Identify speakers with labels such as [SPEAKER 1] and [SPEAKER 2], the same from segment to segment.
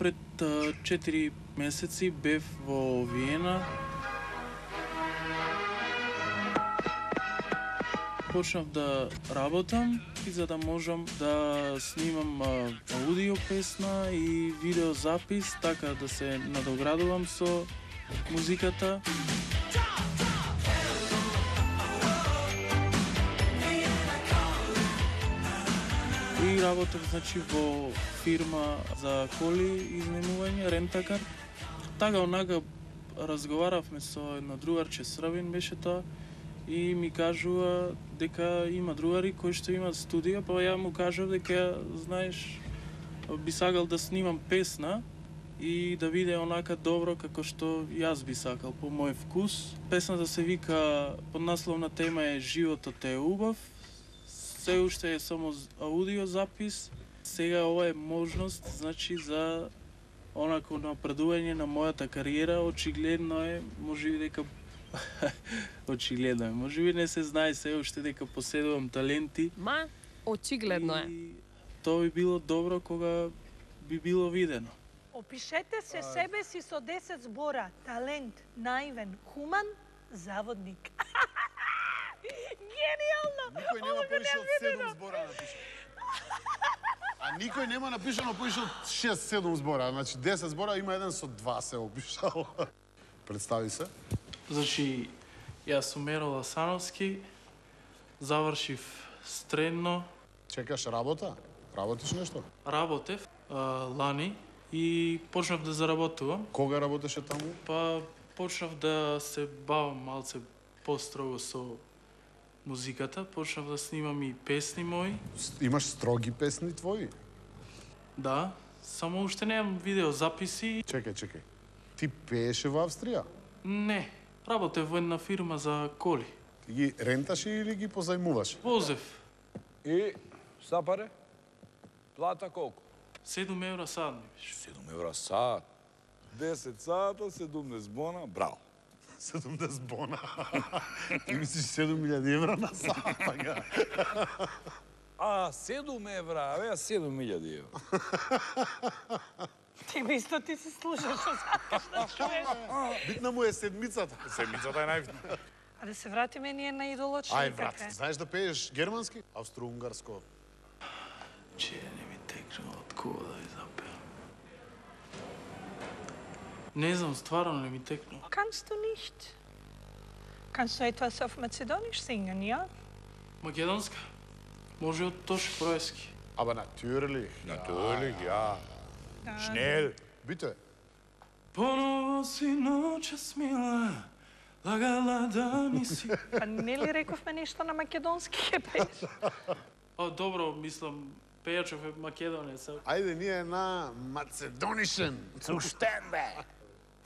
[SPEAKER 1] Пред 4 месеци бев во Виена. Почнав да работам и за да можам да снимам аудио песна и видеозапис, така да се надоградувам со музиката. И работев, значи, во фирма за коли изнаемување, рентакар. Така онака разговаравме со едно другарче србин беше тоа и ми кажува дека има другари кои што имаат студија, па ја му кажав дека, знаеш, би сакал да снимам песна и да биде онака добро како што јас би сакал по мој вкус. Песната се вика, поднасловна тема е Животот е убав. Се уште е само аудио запис. Сега ова е можност, значи, за онако напредување на мојата кариера. Очигледно е, можеби дека очигледно е. Можеби не се знае се уште дека поседувам таленти.
[SPEAKER 2] Ма, очигледно е.
[SPEAKER 1] И тоа би било добро кога би било видено.
[SPEAKER 3] Опишете се себе си со 10 збора. Талент, наивен, хуман, заводник. Гениално!
[SPEAKER 4] Никој нема повише од 7 збора напишано. А никој нема напишано повише од 6-7 збора. Значи 10 збора има еден со 2 се опишал. Представи се.
[SPEAKER 1] Значи, јас сум Еро Ласановски, завршив средно.
[SPEAKER 4] Чекаш работа? Работиш нешто?
[SPEAKER 1] Работев лани и почнав да заработувам.
[SPEAKER 4] Кога работеше таму?
[SPEAKER 1] Па почнав да се бавам малце построго со музиката, почнав да снимам и песни мои.
[SPEAKER 4] Имаш строги песни твои?
[SPEAKER 1] Да, само уште немам видеозаписи.
[SPEAKER 4] Чекај. Ти пееше во Австрија?
[SPEAKER 1] Не, работев во една фирма за коли.
[SPEAKER 4] Ти ги ренташе или ги позајмуваш?
[SPEAKER 1] Возев
[SPEAKER 5] И сапаре? Плата колку?
[SPEAKER 1] 7 евра сад ми беше.
[SPEAKER 5] 7 евра сат. 10 сата, 17 бона, браво.
[SPEAKER 4] 70 бона. Ти мислиш 7.000 евра на сат, така?
[SPEAKER 5] А, 7 евра, бе, 7.000 евра.
[SPEAKER 3] Ти исто ти се слушаш што сакаш да чуеш.
[SPEAKER 4] Битна му е седмицата.
[SPEAKER 5] Седмицата е најбитна.
[SPEAKER 3] А да се вратиме ние на идолочни.
[SPEAKER 4] Ај, брат, знаеш да пееш германски? Австро-унгарско.
[SPEAKER 1] Че не ми текна од кога да ја запеам. Не знам, стварно не ми текна.
[SPEAKER 3] Kannst du nicht? Kannst du etwas auf Mazedonisch singen, ja?
[SPEAKER 1] Македонска? Може од Тош Проески.
[SPEAKER 4] Аба, натюрелих.
[SPEAKER 5] Natürlich, ja.
[SPEAKER 3] Da.
[SPEAKER 5] Schnell.
[SPEAKER 4] Бите.
[SPEAKER 1] Поново си ночас мила, лагала да ми си.
[SPEAKER 3] Па не ли рековме нешто на македонски ќе пееш?
[SPEAKER 1] Добро, мислам, пејачов е македонец.
[SPEAKER 4] Ајде, ние на Macedonischen.
[SPEAKER 5] Zuštен, бе.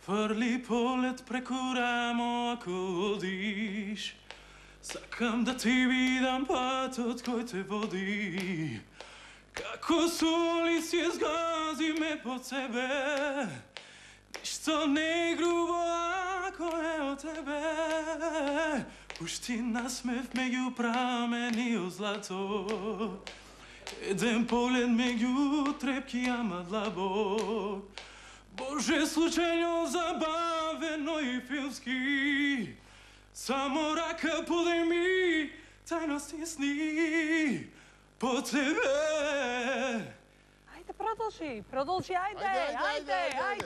[SPEAKER 1] Фрли полет преку рамо ако одиш. Сакам да ти видам патот кој те води. Како соли си згази ме под себе. Ништо не е грубо ако е од тебе. Пушти насмев меѓу прамени од злато. Еден поглед меѓу трепки ама длабок. Боже, случајно, забавено и филмски. Само рака подај ми тајности сни по тебе.
[SPEAKER 3] Ајде, продолжи, ајде.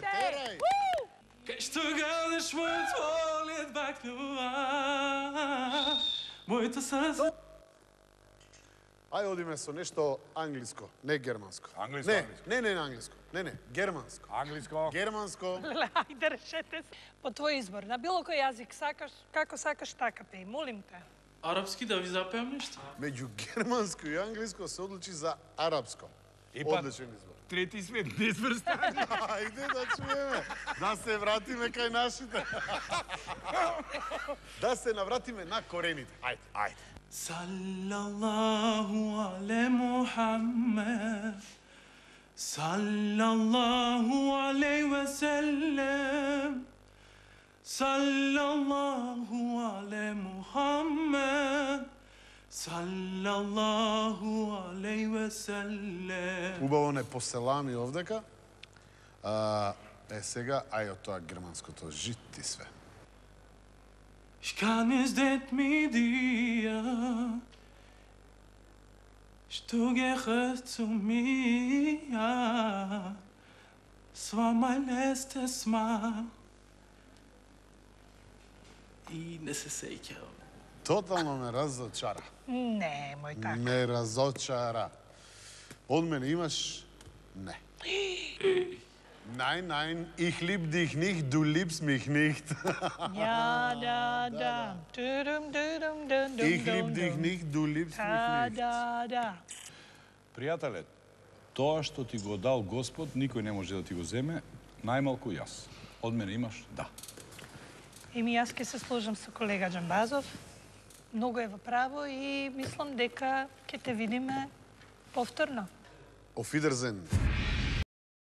[SPEAKER 4] Терай.
[SPEAKER 1] Кај што гадеш мојот поглед бакнува, мојата срце.
[SPEAKER 4] Ајде, одиме со нешто англиско, не германско.
[SPEAKER 5] Англиско,
[SPEAKER 4] Не англиско. Не, германско.
[SPEAKER 5] Англиско.
[SPEAKER 4] Германско.
[SPEAKER 3] Ајде, решете се. По твој избор, на било кој јазик сакаш, како сакаш, така пеј, молим те.
[SPEAKER 1] Арапски да ви запеам нешто?
[SPEAKER 4] Меѓу германско и англиско се одлучи за арапско. Одличен избор.
[SPEAKER 5] Трети свет, не сврстани.
[SPEAKER 4] Ајде да чуеме. Да се вратиме кај нашите. Да се навратиме на корените. Ајде.
[SPEAKER 1] Саллаллаху але Мухаммед, саллаллаху алейхи ве селлем, саллаллаху але Мухаммед, саллаллаху алейхи ве селлем.
[SPEAKER 4] Убаво не поселами овдека. Сега, ај од тоа германското жит ти све.
[SPEAKER 1] Ich kann es det mit dir. Du gehörst zu mir. Es war mein letztes Mal. И не се сеќавам.
[SPEAKER 4] Тотално ме разочара.
[SPEAKER 3] Немој така.
[SPEAKER 4] Ме разочара. Од мене имаш? Не. Nein, ich lieb dich nicht, du liebst mich nicht.
[SPEAKER 3] Ja, da. Dudum, dudum, dum, dum,
[SPEAKER 4] Ich lieb
[SPEAKER 3] dum,
[SPEAKER 4] dich
[SPEAKER 3] dum.
[SPEAKER 4] nicht, du liebst mich
[SPEAKER 3] Da,
[SPEAKER 4] nicht.
[SPEAKER 3] da.
[SPEAKER 5] Пријателе, тоа што ти го дал Господ, никој не може да ти го земе, најмалку јас. Од мене имаш? Да.
[SPEAKER 3] Еми, јас ќе се сложам со колега Џамбазов. Многу е во право и мислам дека ќе те видиме повторно.
[SPEAKER 4] Auf Wiedersehen.